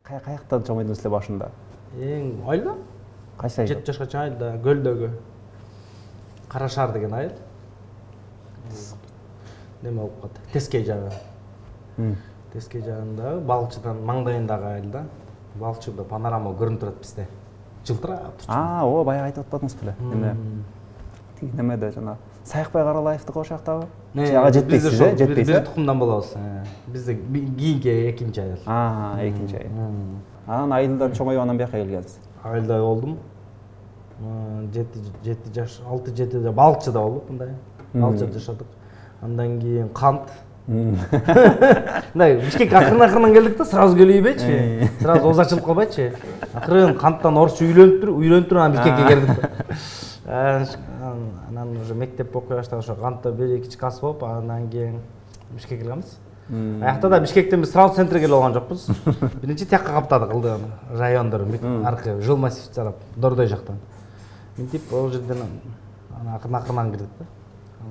Каяктан чоң эдиңиз эле башында? Эң айылда. Кайсы айыл? 7 жашка чейин айылда, Көлдөгү. Кара Шаар деген айыл. Неме болуп калды? Тескей жагы. Тескей жагында балыкчыдан маңдайындагы айылда. Балыкчыда панорама көрүнүп турат бизде. Жылтырап турчу. Ооба, баягы айтып атпадыңыз беле? Неме? Тиги немеде жана Саякбай Каралаевдики ошол жактабы? Ага жетпейсиз, жетпейсиз. Бир тукумдан болобуз. Бизде кийинки экинчи айыл. Экинчи айыл. Анан айылдан чоңоюп анан бияка келгенсиз. Айылда болдум. 6-7 жаш балыкчыда болдук мындай. Балыкчыда жашадык. Андан кийин кант. Мындай Бишкекке акырын келдик да, сразу келбейчи. Сразу оз ачылып калбайчы. Акырын канттан орусча үйлөнүп анан Бишкекке келдик да. Анан уже мектеп окуй баштаган ошо кантта 1-2 класс болуп, андан кийин Бишкекке келгенбиз. Аякта да Бишкектен биз сразу центрге келип алган жокпуз. Биринчи тияка каптадык ылдый райондор, аркы жыл массив жарап, Дордой жактан. Мынтип ол жерден акырын кирдик да.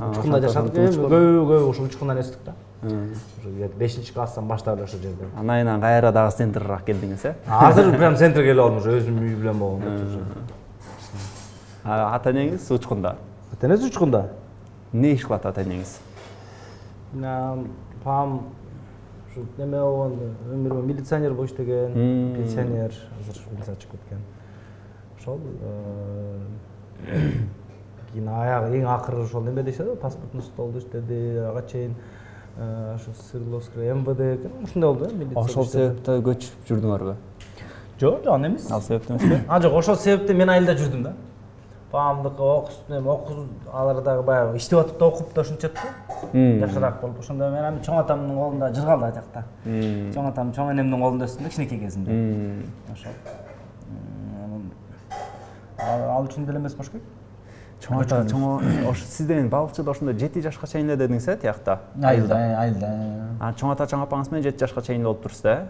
Учкунда жашадык, көп ошол учкундан өстүк да. Уже 5-класстан баштап эле ошол жерде. Анан кайра дагы центрирээк келдиңиз, э? Азыр прям центрге келип алдым, уже өзүм үй билен болгон. Ата энеңиз учкунда? Ата энеси учкунда. Эмне иш кылат ата энеңиз? Папам ушу неме болгон, өмүрү милиционер болуп иштеген, пенсионер, азыр милицияга чыгып кеткен. Ошол кийин аягы эң акыры ошол неме дешеби, паспортный столдо иштеди, ага чейин ошо Свердловское МВД ушундай болду, милиция. Ошол себептен көчүп жүрдүңөрбү? Жок, жок эмес. Ал себептен эмеспи? Жок, ошол себептен мен айылда жүрдүм да. Папамдыкы окуз алар дагы баягы иштеп атып да окуп да ушунча да. Жакшыраак болуп. Ошондо мен чоң атамдын колунда жыргалды ал жакта. Чоң атам, чоң энемдин колунда өстүм да кичинекей кезимде. Ошол. Ал үчүн деле эмес болуш керек. Чоң ата, ошо сизден балыкчыда ошондо 7 жашка чейин эле дедиңиз, э, тиякта? Айылда. Чоң ата, чоң апаңыз менен 7 жашка чейин болуп турсуз, э?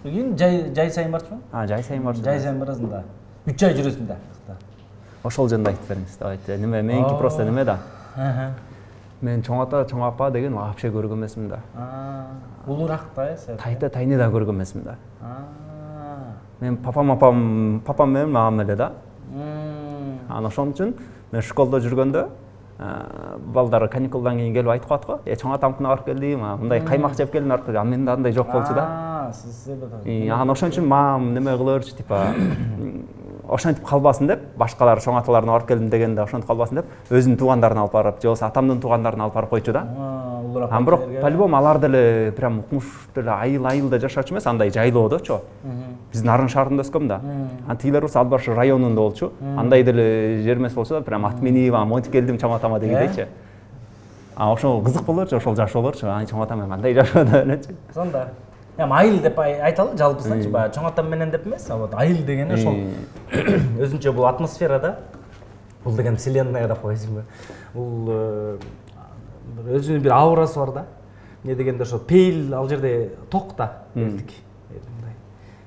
Кийин жай сайын барчумун? Жай сайын барчу. Жай сайын барасың да. 3 ай жүрөсүң да. Ошол жөнүндө айтып бериңиз, давайте. Неме, меники просто неме да. Мен чоң ата, чоң апа деген вообще көргөн эмесмин да. Улураак да, Тайта тайны да көргөн эмесмин да. Мен папам менен мамам эле да. Анан ошон үчүн мен школдо жүргөндө балдар каникулдан кийин келип айтып калат го. Чоң атамкына барып келдим, мындай каймак жеп келдим барып келдим. Менде андай жок болчу да. Анан ошон үчүн мамам неме кылырчы, типа ошентип калбасын деп, башкалар чоң аталарына барып келдим дегенде ошентип калбасын деп, өзүнүн туугандарын алып барып, же болбосо атамдын туугандарын алып барып койчу да. Анан бирок по-любому алар деле прям укмуш деле айылда жашачу эмес, андай жайлоодочу. Биз Нарын шаарында өскөм да. Анан тигилер болсо Ат Баш районунда болчу. Андай деле жер эмес болчу да, прям ат минип, монтип келдим чоң атама дегендейчи. Ошол кызык болорчу, ошол жаш болорчу. Чоң атам менен кандай жашады элечи. Сонда. Айыл деп айталы жалпысынчы, баягы чоң атам менен деп эмес, вот айыл дегени ошол өзүнчө бул атмосфера да. Бул деген вселенная деп койсуңбу. Бул өзүнүн бир аурасы бар да. Не дегенде ошо пейил ал жерде ток да, элдик.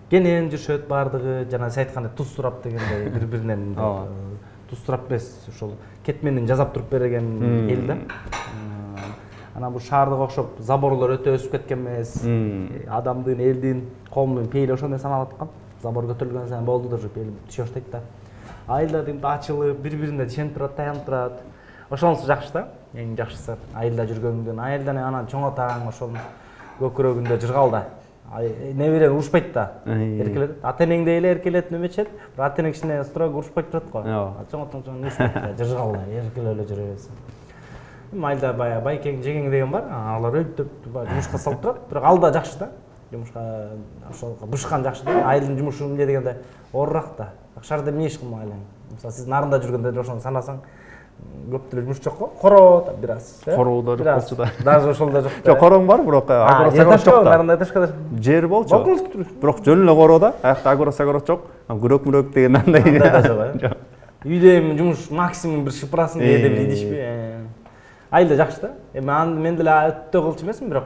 Кенен жүрүшөт бардыгы, жана сиз айткандай туз сурап дегендей бири-биринен туз сурап эмес, ошол кетменин жасап туруп берген эл да. Анан бул шаардыга окшоп заборлор өтө өсүп кеткен эмес. Адамдын, элдин, коомдун пейили ошондой саналып аткан. Забор көтөрүлгөн сайын болду да, пейил түшө баштайт да. Айылда дегенде ачылып, бири-бирине ишенип турат, таянып турат. Ошонусу жакшы да. Эң жакшысы айылда жүргөндөн. Айылдан анан чоң атаң ошол көкүрөгүндө жыргал да. Неберен урушпайт да. Эркелет. Ата энеңдей эле эркелет, немечет. Ата энең кичине строго урушпайт турат го. Чоң атаң урушпайт да, жыргал да, эркелеп эле жүрө бересиң. Айылда баягы байкең, жегең деген бар. Алар өйтүп жумушка салып турат. Бирок ал да жакшы да. Жумушка ошол бышкан жакшы да. Айылдын жумушу эмне дегенде оорураак да. Шаарда эмне иш кылмайлы. Мисалы сиз Нарында жүргөндө ошону санасаң, көп деле жумуш жок го. Короо да бир аз. Короо да жок болчу да. Даже ошол да жок. Жок, короң бар, бирок агросагород жок да. Нарында этажкада жер болчу. Бирок жөн эле короо да. Аякта агросагород жок. Күрөк деген андай. Анда да жок. Үйдө эми жумуш максимум бир шыпырасын кээде бир идишпи. Айылда жакшы да. Мен деле өтө кылчу эмесмин, бирок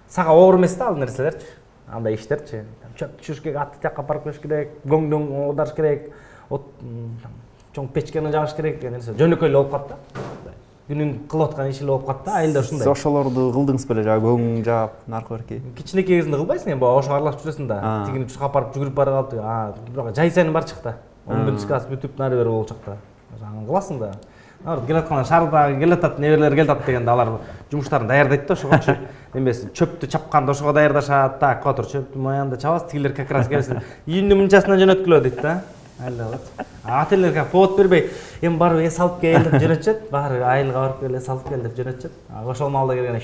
сага оор эмес да ал нерселерчи. Андай иштерчи. Чөп түшүш керек, атты тияка апарып келиш керек, гоңдоң оодарыш керек, чоң печкени жагыш керек деген нерсе жөнөкөй эле болуп калат да. күнүң кылып аткан иши эле болуп калат да, айылда ушундай. Сиз ошолорду кылдыңыз беле, жана көң жаап, наркы берки. Кичинекей кезинде кылбайсың эми, ошо аралашып жүрөсүң да. Тигини чуркап барып жүгүрүп бара калып, бирок жай сайын бар чыкта. 11-класс бүтүп нары бери болуп чыкта. Аны кыласың да. Келаткандар шаардагы келатат, небелер келатат дегенде алар жумуштарын даярдайт да ошогочу. Эмеси чөптү чапканда ошого даярдашат. Так, отур, чөптү моянда чабасыз, тигилер как раз келсин. Үйүндүн мынчасынан жөнөткүлө дейт да. Ателер как повод бербей, эми барып эс алып кел деп жөнөтчүт. Баары айылга барып кел, эс алып кел деп жөнөтчүт. Ошол маалда келгенде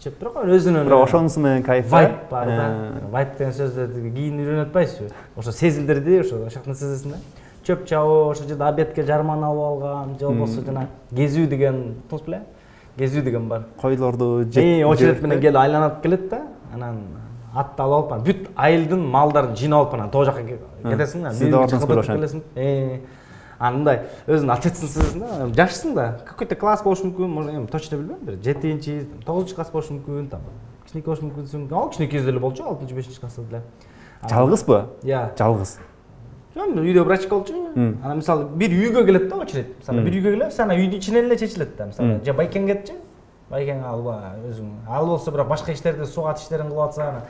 чөп бирок өзүнүн бирок ошонусу менен кайф вайп бар да. Вайп деген сөздөрдү кийин үйрөнүп атпайсызбы? Ошо сезилдирди, ошо жактан сезесиң да. Чөп чабуу, ошо жерде обедке жарман алып алган, же болбосо жана кезүү деген, туз беле? Кезүү деген бар. Койлорду очеред менен келип айланып келет да. Анан атты алып алып, бүт айылдын малдарын жыйнап алып, анан тоо жака кетесиң да. Сиз да ордуңуз беле? Андай өзүнүн ответственность сезесиң да. Жашсың да. Какой-то класс болушу мүмкүн, может, эми точно билбейм, бир 7-чи, 9-класс болушу мүмкүн, там. Кичинекей болушу мүмкүнсүң. Ал кичинекей кезде эле болчу, 6-чи, 5-класста деле. Жалгызбы? Жалгыз. Жөн үйдө врачка болчу. Анан мисалы бир үйгө келет да очередь. Мисалы бир үйгө келет, анан үйдүн ичинен эле чечилет да. Мисалы же байкең кетчи. Байкең алба өзүң. Ал болсо бирок башка иштерди, сугат иштерин кылып атса, анан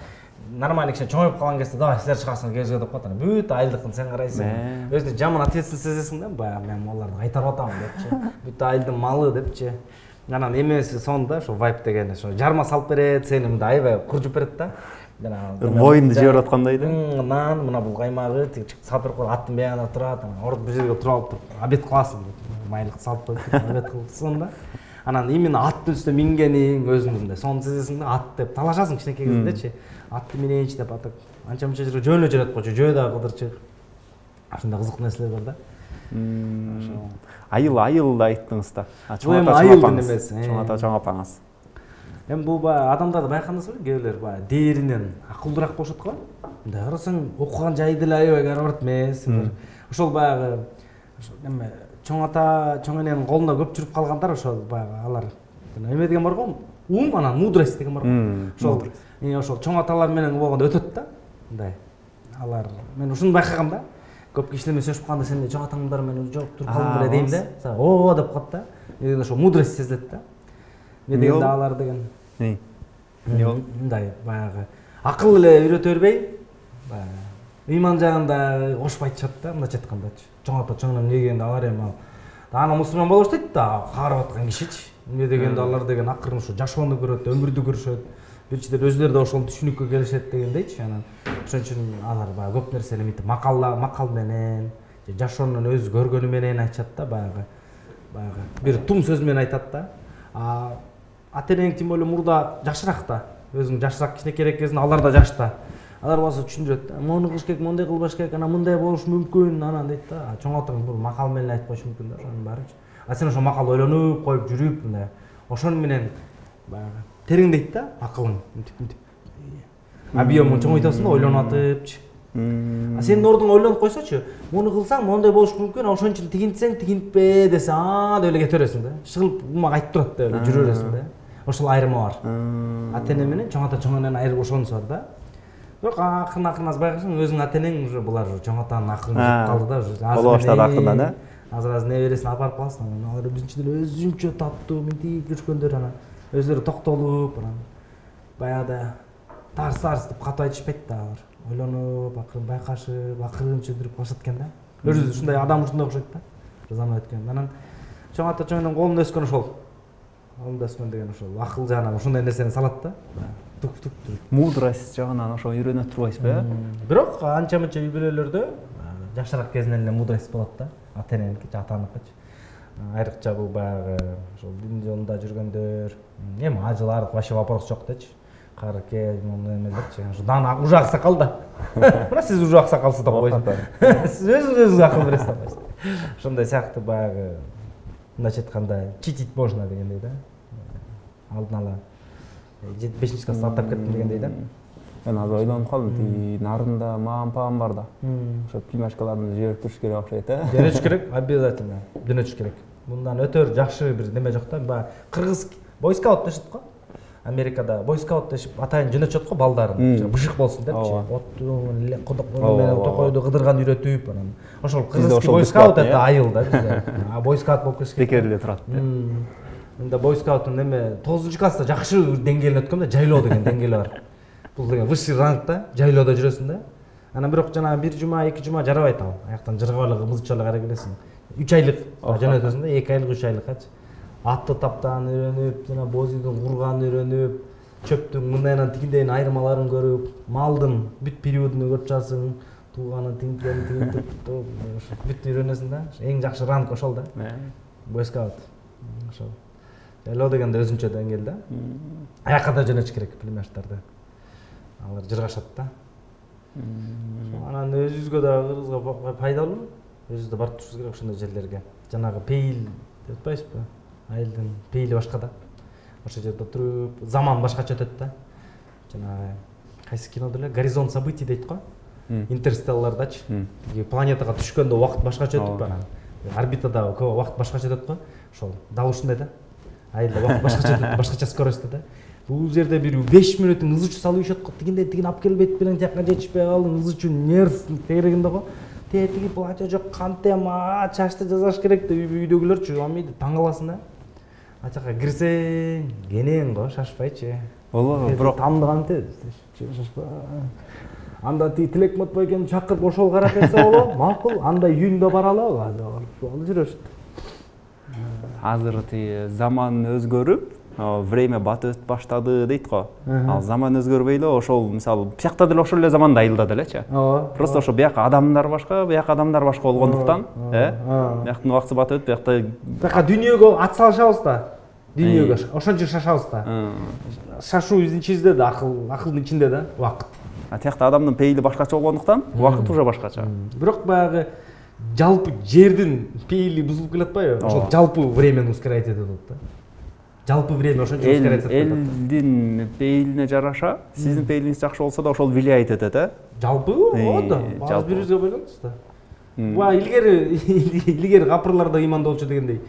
нормально киши чоңоюп калган кезде давай силер чыгасыңар кезге деп коет. Анан бүт айылдыкын сен карайсың. Өзү жаман ответственность сезесиң да. Баягы мен аларды кайтарып атам депчи. Бүт айылдын малы депчи. Анан эмеси сонда ошо вайп деген ошо жарма салып берет, сени мындай аябай куржуп берет да. Воинду жиберип аткандай да. Нан, мына бул каймагы, тиги салып берип аттын бягында турат, анан орду бир жерге туруп алып туруп, обед кыласың деп, майлык салып коюп, обед кылсың да. Анан именно аттын үстүнө мингениң өзүңдү сонун сезесиң да, ат деп талашасың кичинекей кезиндечи. Атты минейинчи деп атып, анча-мынча жерге жөө эле жүрөт койчу, жөө дагы кыдырчык. Ушундай кызыктуу нерселер бар да. Айыл айттыңыз да. Чоң ата эмес. Чоң ата чоң апаңыз. Эми бул баягы адамдарды байкадыңызбы? Кээ бирлер баягы дээринен акылдуураак болушат го. Мындай карасаң окуган жайы деле аябай карабарт эмес. Ошол баягы эме чоң ата, чоң эненин колунда көп жүрүп калгандар ошол баягы алар эме деген бар го, ум анан мудрость деген бар го. Ошол чоң аталар менен болгондо өтөт да. Мындай алар мен ушуну байкагам да. Көп кишилер менен сөйлөшүп калганда сен чоң атаңдар менен жок туруп калдым беле дейм да. О деп коет да. Мен ошо мудрость сезилет да. Мен деген алар деген. Мындай баягы акыл эле үйрөтө бербей, баягы ыйман жагында кошуп айтышат да, мындайча айткандачы. Чоң ата чоң эне дегенде алар эми аны мусулман боло баштайт да, каарап аткан кишичи. Эмне дегенде алар деген акырын ушу жашоону көрөт, өмүрдү көрүшөт. Бирчиден өзүлөрү да ошол түшүнүккө келишет дегендейчи. Анан ошон үчүн алар баягы көп нерсени мынтип макал менен, же жашоонун өзү көргөнү менен айтышат да, баягы бир тум сөз менен айтат да. Ата-энең тем более мурда жашыраак да. Өзүң жашыраак кичинекейрээк кезинде алар да жашта. Алар болсо түшүндүрөт да. Мону кылыш керек, мондай кылбаш керек, анан мындай болушу мүмкүн, анан дейт да. Чоң атаң бул макал менен айтып коюшу мүмкүн да, ошонун баарычы. Сен ошол макалды ойлонуп коюп жүрүп, мындай ошону менен баягы тереңдейт да акылың. Объемун чоңойтасың да, ойлонуп атыпчы. Сенин ордуңа ойлонуп койсочу, мону кылсаң мондай болушу мүмкүн, ошон үчүн тигинтсең тигинтпе десе, деп эле кете бересиң да. Шыгылып умак айтып турат деп эле жүрө бересиң да. Ошол айырма бар. Ата-эне менен чоң ата чоң эненин айырып ошонусу бар да. Бирок акырын байкасаң өзүңүн ата-энең уже булар чоң атанын акылын жеп калды да, уже. Боло баштады акырдан да. Азыр небересин алып барып каласың. Алар биринчиден өзүнчө таттуу мынтип жүргөндөр, анан өзүлөрү токтолуп, анан баягыда тарс деп катуу айтышпайт да алар. Ойлонуп, акырын байкашып, акырын чөндүрүп калышат экен да. Өзү ушундай адам ушундай окшойт да. Заман өткөн. Анан чоң ата чоң эненин колунда өскөн ошол. Колунда өскөн деген ошол акыл жагынан ушундай нерсени салат да. Тук. Мудрость жагынан ошо үйрөнөт турбайсызбы, Бирок анча-мынча үй бүлөлөрдө жашыраак кезинен эле мудрость болот да. Ата-эненики, атаныкычы. Айрыкча бул баягы ошол дин жолунда жүргөндөр, эми ажылар вообще вопрос жок дечи. Карке, эмелерчи. Ушудан уже аксакал да. Мына сиз уже аксакалсыз деп койсуңуз. Сиз өзүңүз акыл бересиз деп койсуңуз. Ошондой сыяктуу баягы мындайча айтканда читить можно дегендей да. Алдын ала 5-чи класста аттап кеттим дегендей да. Мен азыр ойлонуп калдым, тиги нарында мамам бар да. Ошо пимашкаларды жиберип туруш керек окшойт, Жибериш керек, обязательно. Жөнөтүш керек. Мындан өтөр жакшы бир неме жок да. Баягы кыргыз бойскаут дешет го. Америкада бойскаут дешип атайын жөнөтүшөт го балдарын. Бышык болсун депчи. Отту, кодоктору, токойду кыдырган үйрөтүп, анан ошол кыргыз бойскаут это айыл да бизде. Бойскаут болуп кетиш керек. Текериле турат. Мында бойскауттун эме 9-класста жакшы деңгээлин өткөм да, жайлоо деген деңгээли бар. Бул деген высший ранг да, жайлоодо жүрөсүң да. Анан бирок жанагы 1 жума, 2 жума жарабайт ал. Аяктан жыргап эле мызыча эле карай келесиң. 3 айлык жөнөтөсүң да, 2 айлык, 3 айлыккачы. Атты таптаан үйрөнүп, жана бозүйдүн курганын үйрөнүп, чөптүн мындайынан тигиндейин айырмаларын көрүп, малдын бүт периодун көрүп чыгасың, тууганын тигинтип, бүт үйрөнөсүң да. Эң жакшы ранг ошол да. Бойскаут. Ошол. Жайлоо дегенде өзүнчө деңгээл да. Аякка да жөнөтүш керек пулеметтерди. Алар жыргашат да. Анан өзүбүзгө да кыргызга пайдалуу. Өзүбүз да барып турушубуз керек ошондой жерлерге. Жанагы пейил деп атпайсызбы? Айылдын пейили башка да. Ошол жерде туруп, заман башкача өтөт да. Жанагы кайсы кинодо эле горизонт событий дейт го. Интерстеллардачы. Планетага түшкөндө убакыт башкача өтүп анан орбитада убакыт башкача өтөт го. Ошол дал ушундай да. Айылда убакыт башкача өтөт, башкача скоростьта да. Бул жерде бир 5 минуттун ыз учу салып ийишет го. Тигинден тигин алып келбейт белең тияка жетишпей калдың, ыз учу нерв тегерегинде го. Тиги платье жок, кантем, чачты жасаш керек деп үйдөгүлөрчү амайды таң каласың да. Ачакка кирсең, кенен го, шашпайчы. Ооба, бирок тамдыган тез, шашпа. Анда тиги Тилек Матбайкени чакырып ошол карап берсе болобу? Макул, анда үйүндө баралы, ошол жүрөшүт. Азыр тиги заман өзгөрүп, время батып баштады дейт го. Ал заман өзгөрбөй эле ошол мисалы биякта деле ошол эле заманда айылда делечи. Просто ошо бияка адамдар башка, бияка адамдар башка болгондуктан, бияктын убакыты батып өтүп, бияка дүйнөгө ат салышабыз да. Дүйнөгө ошончо шашабыз да. Шашуу биздин ичибизде да, акылдын ичинде да, убакыт. Тиякта адамдын пейили башкача болгондуктан, убакыт уже башкача. Бирок баягы жалпы жердин пейили бузулуп келатпайбы? Ошол жалпы времени ускорять этип атат да. Жалпы время ошончо ускорять этип атат. Элдин пейилине жараша, сиздин пейилиңиз жакшы болсо да ошол влиять этет, Жалпы, ооба. Бааз бирибизге байланыштуу да. Буга илгери капырлар да ыймандуу болчу дегендей.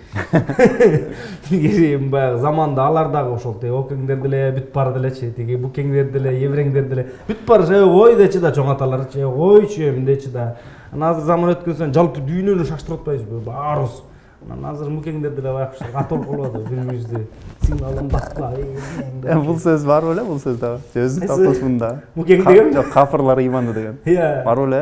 Илгери баягы заманда алар дагы ошол океңдер деле бүт бар делечи, тиги букеңдер деле, евреңдер деле бүт бар ой дечи да чоң аталарчы, ойчу эмдечи да. Анан азыр заман өткөн сайын жалпы дүйнөнү шаштырып атпайбызбы, баарыбыз. Анан азыр мукеңдер деле баягы атып калып атат бири-бирибизди. Сигналын баскыла. Бул сөз бар беле, бул сөз да. Өзүн таптысында. Мукең деген? Жок, капырлар ыймандуу деген. Бар беле?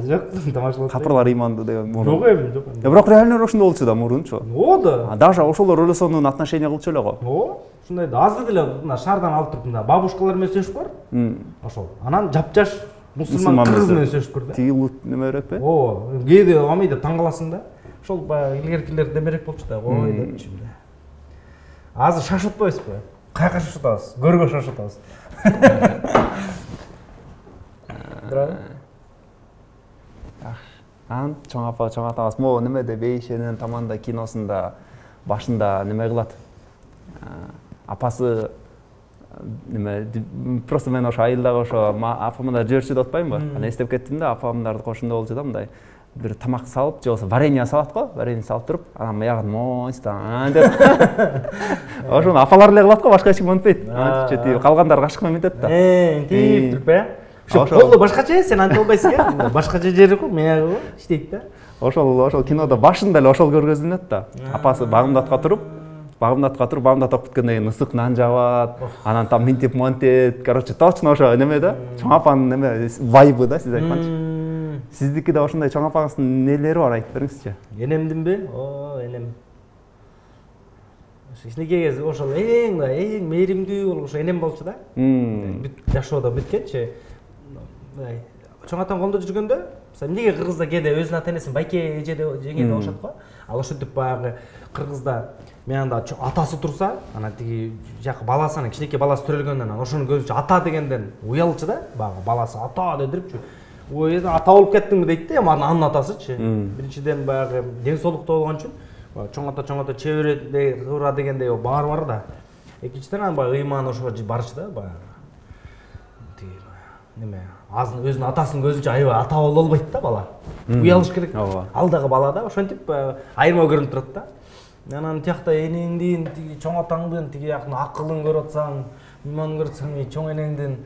Жок, тамашалап. Капырлар ыймандуу деген мурун. Жок эми, жок. Бирок реально ошондой болчу да мурунчу. Ооба. Даже ошолор өлөсөнүн отношения кылчу эле го. Ооба. Ушундай да азыр деле мына шаардан алып туруп мына бабушкалар менен сөйлөшүп бар. Ошол. Анан жапжаш мусулман кыз менен сөйлөшүп көр да. Тиги неме беретпи? Ооба. Кээде амай деп таң каласың да. Ошол баягы илгеркилер демерек болчу да. Ой депчи. Азыр шашып атпайбызбы? Каяка шашып атабыз? Көргө шашып атабыз. Анан чоң атабыз могу немеде Бейшенин Таманда киносунда башында неме кылат. Апасы неме просто мен ошо айылдагы ошо апамдар жүрчү деп атпаймынбы? Анан эстеп кеттим да, апамдардын кошунда болчу да мындай бир тамак салып, же болбосо варенье салат го, варенье салып туруп, анан биягын мойстан деп. Ошону апалар эле кылат го, башка эч ким монтпойт. Анан калгандар кашык менен мынтет да. Тип туруп Ошо колдо башкача, сен антип албайсың э? Башкача жери го, мыягы го, иштейт да. Ошол кинодо башында эле ошол көргөзүлөт да. Апасы багымдатка туруп, багымдат окуп бүткөндөн кийин ысык нан жабат, анан там мынтип монтет. Короче, точно ошо неме да, чоң апанын неме вайбы да, сиз айтканчы. Сиздикиде ошондой чоң апаңыздын нелери бар, айтып бериңизчи. Энемдинби? Энем. Кичинекей кез ошол эң мээримдүү болгон ошо энем болчу да. Бүт жашоодо бүткенчи. Чоң атам колдо жүргөндө, эмнеге кыргызда кээде өзүнүн ата энесин байке эже деп жеңге деп атышат го. Ал ошентип баягы кыргызда менанда атасы турса, анан тиги жакы баласы, анан кичинекей баласы төрөлгөндөн анан ошону көзүнчө ата дегенден уялчу да, баягы баласы ата дедирипчү. Ой, ата болуп кеттиңби дейт да, анын атасычы. Биринчиден баягы ден соолуктуу болгон үчүн чоң ата чебере куура дегендей бар да. Экинчиден анан баягы ыйман ошого барчу да, баягы. Тиги неме, азыр өзүнүн атасынын көзүнчө аябай ата боло албайт да бала. Уялыш керек. Ал дагы бала да, ошентип айырма көрүнүп турат да. Анан тиякта энеңдин, тиги чоң атаңдын, тиги жактын акылын көрүп атсаң, ыйманын көрүп атсаң, чоң энеңдин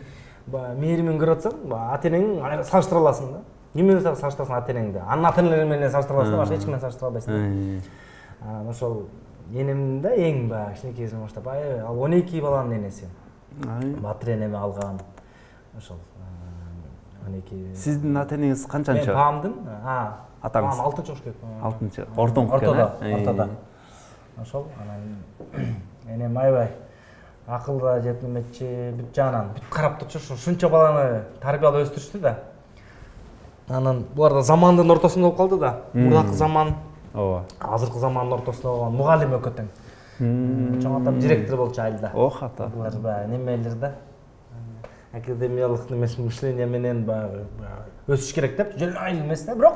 мээримин көрүп атсаң, ата энең салыштыра аласың да. Эмне менен салыштырасың ата энеңди? Анын ата энелери менен салыштыра аласың да, башка эч ким менен салыштыра албайсың да. Ошол энем да эң баягы кичинекейсинен баштап ал 12 баланын энеси. Батыр энеме алган. Ошол 12. Сиздин ата-энеңиз канчанчы? Мен паамдын, атаңыз? Паам 6-чы болуш керек. 6-чы. Ортоңку экен. Ортодо. Ошол анан энем аябай акылда жеп неметчи, бүт жагынан бүт карап турчу, ушунча баланы тарбиялап өстүрүштү да. Анан булар да замандын ортосунда болуп калды да. Мурдакы заман, ооба. азыркы замандын ортосунда болгон мугалим экөө тең. Чоң атам директор болчу айылда. Ох ата. Булар баягы немелер да. Академиялык немеси мышление менен баягы өсүш керек деп, жөн айыл эмес да, бирок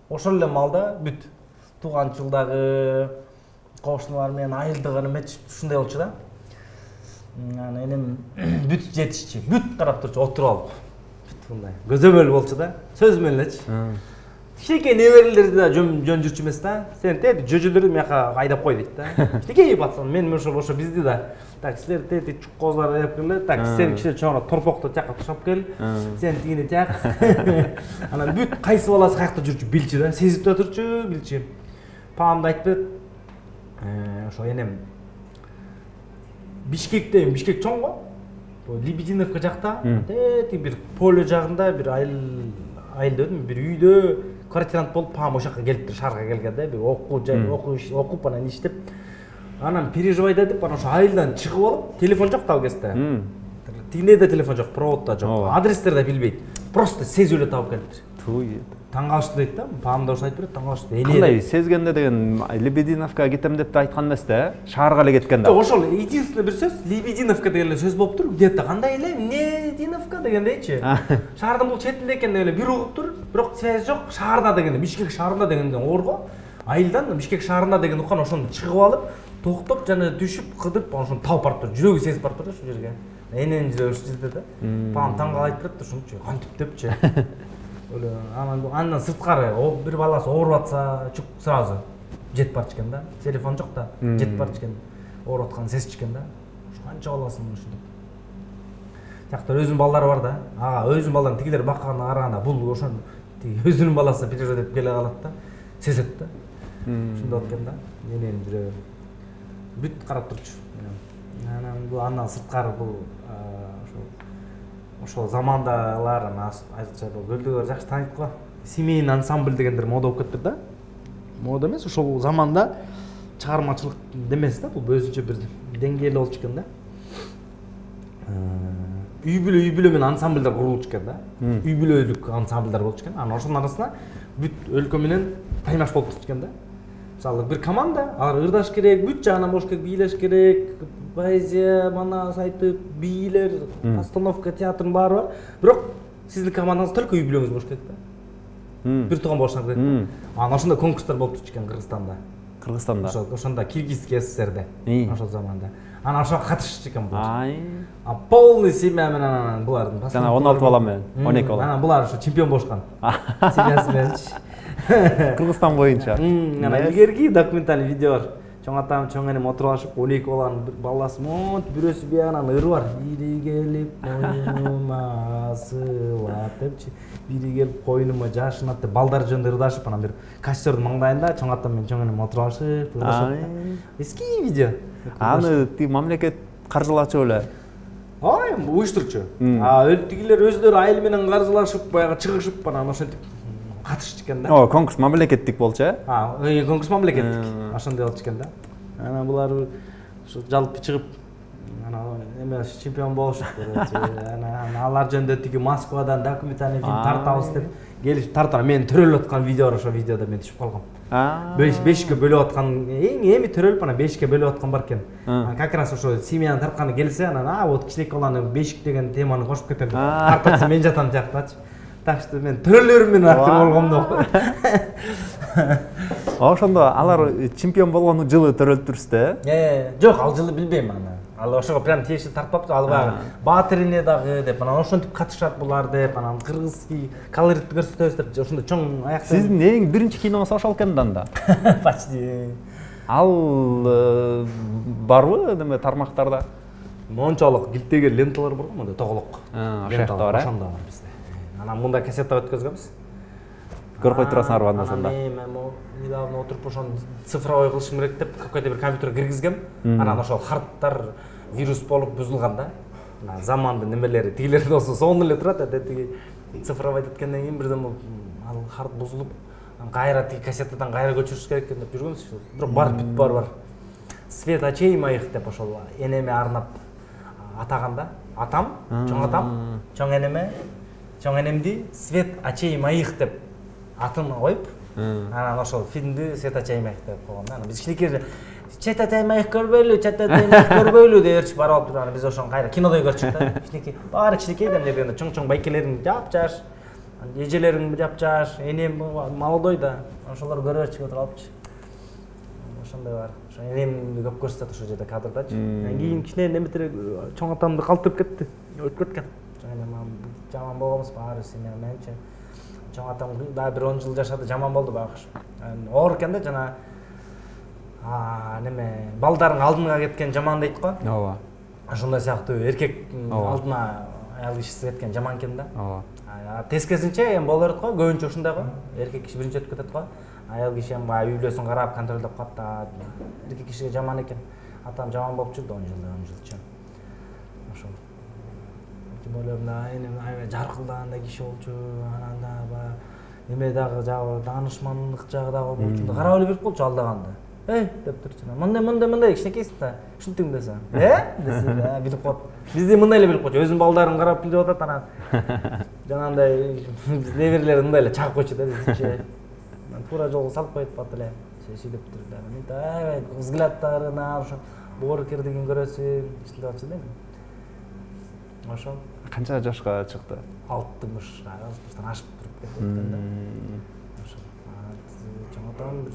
ошол эле маалда бүт тууганчылдагы кошуналар менен айылдыгы неметип ушундай болчу да. Анан энем бүт жетишчи, бүт карап турчу, отуруп алып. Бүт мындай көзөмөл болчу да, сөз менен элечи. Кичинекей неберелерди да жөн жүрчү эмес да. Сен тети жөжөлөрдү мияка айдап кой дейт да. Кичинекей пацан, мен ошо bizди да. Так, силер тети чук козлар айдап келе, так, сен кичине чоңураак торпокту тияка тушап кел. Сен тигине тияк. Анан бүт кайсы баласы каякта жүрчү билчү да, сезип да турчу, билчү. Паамды айтпайт. Ошо энем Бишкекте, Бишкек чоң го. Лебединовка жакта, тети бир поле жагында бир айылда өдүм, бир үйдө квартирант болуп паам ошо жака келиптир, шаарга келген да, бир окуп анан иштеп. Анан переживай да деп, анан ошо айылдан чыгып алып, телефон жок да ал кезде. Тигине да телефон жок, провод да жок, адрестер да билбейт. Просто сезип эле таап келиптир. Таң калышты дейт да, паам да ошо айтып берет, таң калышты. Кандай сезгенде деген Лебединовка кетем деп да айткан эмес да, шаарга эле кеткен да. Жок, ошол единственный бир сөз, Лебединовка деген эле сөз болуп тур, где-то кандай эле, Лебединовка дегендейчи. Шаардын бул четинде экен деп эле бир угуп тур, бирок связь жок, шаарда дегенде, Бишкек шаарында дегенден орго, айылдан Бишкек шаарында деген уккан ошону чыгып алып, токтоп жана түшүп, кыдып, ошону таап барып тур, жүрөгү сезип барып тур ошол жерге. Эненин жүрөгү ушул жерде да. Паам таң калып айтып берет, ушунчу, кантип депчи. Андан сырткары бир баласы ооруп атса, чук сразу жетип барчу экен да. Телефон жок да, жетип барчу экен. Ооруп атканын сезчү экен да. Канча баласын ушинтип. Тиякта өзүнүн балдары бар да. Өзүнүн балдарын тигилер бакканына караганда бул ошон өзүнүн баласы переживай деп келе калат да. Сезет да. Ушундай болуп экен да. Менин жүрөгүм бүт карап турчу. Анан бул андан сырткары бул ошол замандагылар айрыкча көлдөгөр жакшы тааныйт го. Семейный ансамбль дегендер мода болуп кетти да. Мода эмес, ошол заманда чыгармачылык демес да, бул өзүнчө бир деңгээлде болчу экен да. Үй бүлө менен ансамбльдер курулчу экен да. Үй бүлөлүк ансамбльдер болчу экен. Анан ошонун арасында бүт өлкө менен таймаш болуп турчу экен да. Мисалы бир команда, алар ырдаш керек, бүт жагынан болуш керек, бийлеш керек, поэзия, манас айтып, бийлер, постановка, театрдын баары бар. Бирок сиздин командаңыз только үй бүлөңүз болуш керек да. Бир тууган болушуңар керек. Анан ошондой конкурстар болуп турчу экен Кыргызстанда. Кыргызстанда. Ошондо Киргизский СССРде. Ошол заманда. Анан ошого катышчу экен бул. Полный семья менен анан булардын. Жана 16 бала менен, 12 бала. Анан булар ошо чемпион болушкан. Семьясы мененчи. Кыргызстан боюнча. Анан илгерки документальный видео бар. Чоң атам, чоң энем отуруп алышып, 12 баланын баласы монт бирөөсү биягынан ыры бар. Бири келип койнума сылап депчи. Бири келип койнума жашынат деп балдар жөнүндө ырдашып, анан бир кассердин маңдайында чоң атам менен чоң энем отуруп алышып, ырдашып. Эски видео. Аны тиги мамлекет каржылачу эле. Уюштурчу. Тигилер өздөрү айыл менен каржылашып, баягы чыгышып, анан ошентип катышчу экен да. Конкурс мамлекеттик болчу, конкурс мамлекеттик. Ошондой болчу экен да. Анан булар ушу жалпы чыгып, анан эме чемпион болушуп, анан алар жөнүндө тиги Москвадан документальный фильм тартабыз деп келип тартат. Мен төрөлүп аткан видео ошо видеодо мен түшүп калгам. 5 бөлүп аткан, эми төрөлүп анан 5 бөлүп аткан бар экен. Как раз ошо семьяны тартканы келсе, анан вот кичинекей баланы бешик деген теманы кошуп кетем. Тартатса мен жатам тияктачы. Так что мен төрөлөрүм менен актер болгом да. Ошондо алар чемпион болгон жылы төрөлтүрсүз да? Жок, ал жылы билбейм аны. Ал ошого прям тиешелүү тартпаптыр. Ал баягы Батырине дагы деп, анан ошентип катышат булар деп, анан кыргызский колоритти көрсөтөбүз деп, ошондо чоң аякта. Сиздин эң биринчи киноңуз ошол экен да? Почти. Ал барбы неме тармактарда? Мончалык килтеген ленталар бар го, мондай тоголок. Ошондо бар. Ошондо бар бизде. Анан мында кассета өткөзгөнбүз. көрүп кой турасың арбанын сонда. Мен недавно отуруп ошону цифровой кылышым керек деп какой-то бир компьютерге киргизгем. Анан ошол харттар вирус болуп бузулган да. Замандын немелери тигилер болсо сонун эле турат, тиги цифровой эткенден кийин бирден ал харт бузулуп, кайра тиги кассетадан кайра көчүрүш керек экен деп жүргөнбүз. Бирок бар. Свет очей моих деп ошол энеме арнап атаганда, атам, чоң энемди свет очей моих деп атын коюп, анан ошол фильмди свет очей моих деп койгон. Анан биз кичинекей свет очей моих көрбөйлү деп ээрчип барып алып турган. Биз ошону кайра кинодой көрчүк да. Кичинекей, баары кичинекей демдегенде чоң байкелерин жапжаш, эжелерин жапжаш, энем молодой да. Ошолор көрөп чыгып алыпчы. Ошондой бар. Ошо энемди көп көрсөтөт ошол жерде кадрдачы. Анан кийин кичине неметире чоң атамды калтырып кетти. Өтүп кеткен. Жаман болгонбуз баары менимче. Чоң атам дагы бир 10 жыл жашады, жаман болду багыш. Оор экен да жана неме балдардын алдына кеткен жаман дейт го. Ооба. Ошондой сыяктуу эркектин алдына аял кишиси кеткен жаман экен да. Ооба. Тескерисинче эми боло берет го, көбүнчө ушундай го. Эркек киши биринчи өтүп кетет го. Аял киши эми баягы үйлөсүн карап, контролдоп калат да. Эркек кишиге жаман экен. Атам жаман болуп жүрдү 10 жылчы. Ошол. Тем более аябай жаркылдагандай киши болчу. Анан да баягы неме дагы жагы таанышмандык жагы дагы болчу. Карап эле берип болчу алдаганда. Деп турчу. Мындай кичинекейсиң да. Ушинтиң десе. Десе, билип коет. Бизде мындай эле билип койчу. Өзүнүн балдарын карап билип атат анан. Жанагындай неберелер мындай эле чагып койчу да бизче. Туура жолго салып коет бат эле. Сөйлөп турду. Мен аябай взглядтарына ошо боорукердигин көрөсүң, ишилеп атчы да. Ошол. Канча жашка чыкты? 60-тан ашып туруп кеткен да. Ошол. Чоң атам бир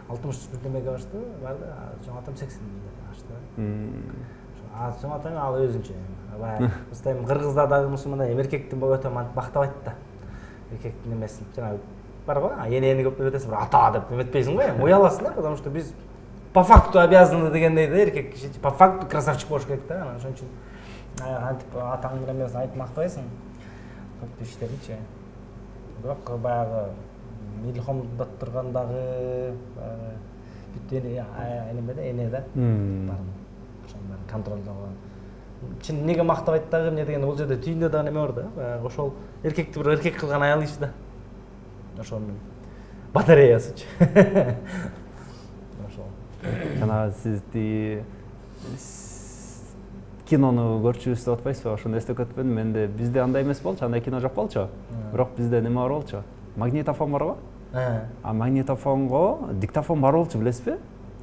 60 birдемеге башты, барды, чоң атам 80 ашты. Чоң атам ал өзүнчө. Баягы бизде кыргызда дагы мусулманда эркектин өтө мактабайт да. Эркектин эмесин жанагы бар го, энени көп деп этесиң, ата деп эметпейсиң го, уяласың да, потому что биз по факту обязаны дегендей да, эркек киши по факту красавчик болуш керек да, анан ошон үчүн антип атаң менен эмесин айтып мактабайсың. Көп иштеричи. Бирок баягы Илхомдот тургандагы бүт эне да бар. Ошону контролдогон. Чын неге мактабайт дагы эмне дегенде бул жерде түйүндө дагы неме бар да. Баягы ошол эркекти бир эркек кылган аял иши да. Ошонун батареясычы. Ошол. Жана сизди кинону көрчүбүз деп атпайсызбы? Ошону эстеп кетпедим. Менде бизде андай эмес болчу, андай кино жок болчу. Бирок бизде неме бар болчу? Магнитофон барбы? Магнитофонго диктофон бар болчу, билесизби?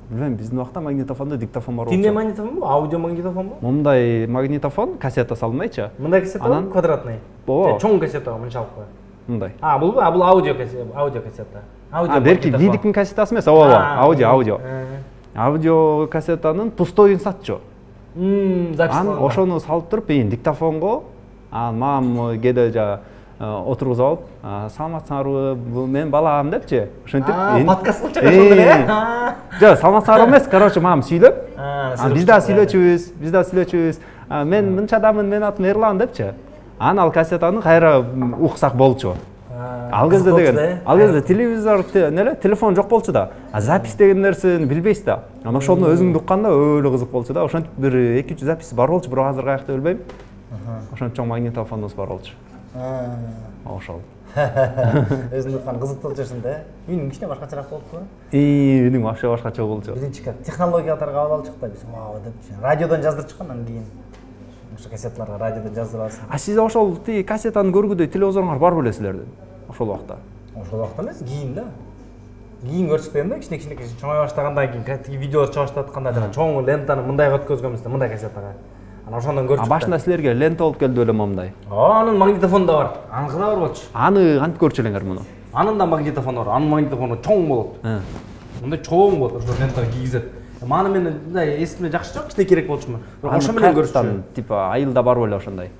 Билбейм, биздин убакта магнитофондо диктофон бар болчу. Тиңде магнитофонбу? Аудио магнитофонбу? Мындай магнитофон, кассета салынбайчы. Мындай кассета квадратный. Чоң кассета мынчалык кой. Мындай. Бул аудио кассета. Берки видиктин кассетасы эмес, аудио. Аудио кассетанын пустойун сатчу. Запись. Ошону салып туруп, диктофонго, мамам кээде отургузуп алып, саламатсыңарбы, бул мен балам депчи. Ошентип. Подкаст болчу ошондо эле. Жок, саламатсыңарбы эмес, короче, мамам сүйлөп. Биз да сүйлөчүбүз. Мен мынчадамын, мен атым Эрлан депчи. Анан ал кассетаны кайра уксак болчу. Ал кезде телевизор, телефон жок болчу да. Запись деген нерсени билбейсиз да. Анан ошону өзүңдү укканда өлө кызык болчу да. Ошентип бир 2-3 запись бар болчу, бирок азыр каякта билбейм. Ошон чоң магнитофонубуз бар болчу. Ошол. Өзүң уккан кызыктуу жүрсүң да. Үйүң кичине башкачараак болуппу? Үйүң вообще башкача болчу. Биринчи технологиялар кабыл алчык да биз. Депчи. Радиодон жаздырчык анан кийин. Ошо кассеталарга радиодон жаздырасың. Сиз ошол тиги кассетаны көргүдөй телевизоруңар бар беле силердин? Ошол убакта. Ошол убакта эмес, кийин да. Кийин көрчүк дегенде кичине чоңой баштагандан кийин тиги видеолор чыга баштатканда жана чоң лентаны мындайга өткөзгөнбүз да, мындай кассетага. Анан ошондон көрчүк. Башында силерге лента болуп келди беле момундай. Анын магнитофону да бар. Аныкы да бар болчу. Аны кантип көрчү элеңер муну? Анын да магнитофону бар. Анын магнитофону чоң болот. Мындай чоң болот, ошо лентага кийгизет. Маны мен мындай эсиме жакшы жок, кичине керек болчумун. Бирок ошо менен көрчүм. Типа айылда бар беле ошондой.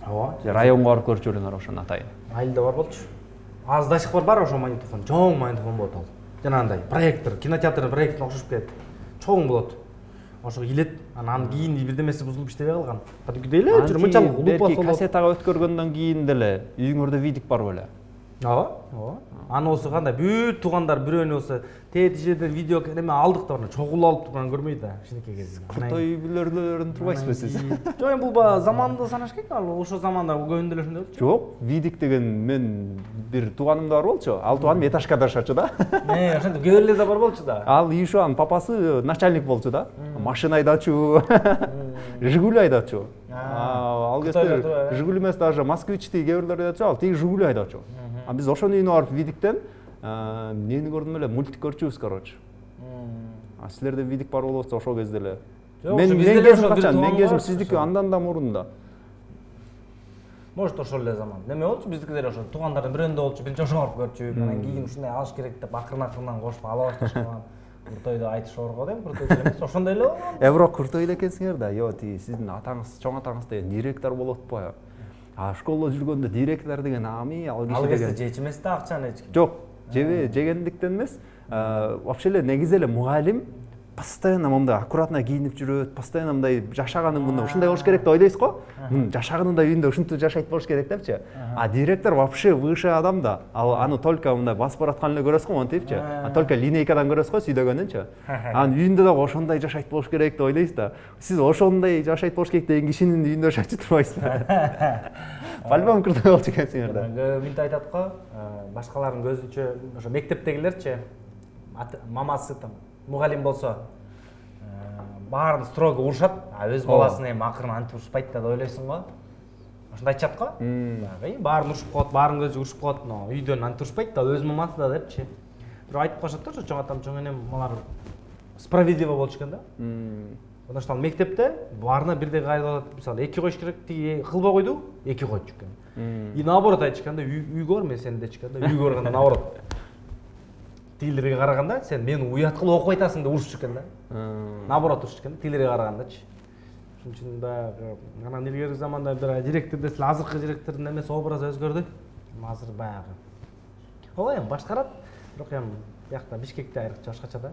Ооба. Районго барып көрчү элеңер ошону атайын. Айылда бар болчу. Азыр до сих пор бар ошо магнитофон. Чоң магнитофон болот ал. Жанагындай проектор, кинотеатрдын проекторуна окшош келет. Чоң болот. ошого илет, анан кийин бирдемеси бузулуп иштебей калган. Кадимгидей эле жүрүп мынчалык улупа соло. Кассетага өткөргөндөн кийин деле үйүңөрдө видик бар беле? Ооба. Аны болсо кандай бүт туугандар бирөөнү болсо тети жерден видео неме алдык да, чогулуп алып турган көрмөйт да, кичинекей кезде. Куртой билөрдөрүн турбайсызбы сиз? Жок, бул заманды санаш керек, ал ошо заманда көбүндө эле ошондой болчу. Жок, видик деген мен бир тууганым да бар болчу. Ал тууганым этажкада жашачу да. Ошентип кээ бирлер да бар болчу да. Ал Ишуанын папасы начальник болчу да. Машина айдачу, Жигули айдачу. Ал кезде Жигули эмес, даже Москвичти кээ бирлер айдачу, ал тиги Жигули айдачу. А биз ошонун үйүнө барып видиктен эмнени көрдүм эле, мультик көрчүбүз, короче. А силерде видик бар болобу ошол кезде эле? Мен кезим качан? Мен кезим сиздики андан да мурунда. Может ошол эле заман. Неме болчу, биздики деле ошо туугандардын бирөөндө болчу, биринчи ошого барып көрчү. Анан кийин ушундай алыш керек деп акырын-акырынан кошуп ала башташкан. Куртойду айтышып го дейм, Куртой эмес, ошондой эле болгон. Бирок Куртой эле экенсиңер да. Йо, тиги сиздин атаңыз, чоң атаңыз деген директор болуп атпайбы? А школдо жүргөндө директор деген ами ал киши деген. Ал кезде жечү эмес да акчаны эч ким. Жок, жегендиктен эмес. Вообще эле негизи эле мугалим постоянно мындай аккуратно кийинип жүрөт, постоянно мындай жашаганың мындай ушундай болуш керек деп ойлойсуз го. Жашаганында үйүндө ушинтип жашайт болуш керек депчи. А директор вообще выше адам да. Ал аны только мындай басып бараткан эле көрөсүз го, монтипчи. А только линейкадан көрөсүз го сүйдөгөнүнчү. Анын үйүндө да ошондой жашайт болуш керек деп ойлойсуз да. Сиз ошондой жашайт болуш керек деген кишинин үйүндө жашачу турбайсызбы? По-любому кырдай болчу экенсиңер да. Мынтип айтат го, башкалардын көзүнчө ошо мектептегилерчи, мамасы там мугалим болсо баарын строго урушат, а өз баласын эми акырын антип урушпайт да деп ойлойсуң го. Ошондой айтышат го. Баарын урушуп коет, баарын көзү урушуп коет, үйдөн антип урушпайт да, өз мамасы да депчи. Бирок айтып калышат да, ошо чоң атам, чоң энем алар справедливо болуш экен да. Потому что ал мектепте баарына бирдей кайда атат. Мисалы 2 коюш керек, тиги кылбай койду, 2 койчу экен. И наоборот айтышканда, үйгө бар, мен сени дечканда, үйгө барганда наоборот. Тигилерге караганда сен мени уят кылып окуп айтасың деп урушчу экен да. Наоборот урушчу экен, тигилерге карагандачы. Ошон үчүн баягы анан илгерки заманда бир директор десел, азыркы директордун эмеси образы өзгөрдү. Азыр баягы. Ооба эми башкарат, бирок эми биякта Бишкекте айрыкча башкача да.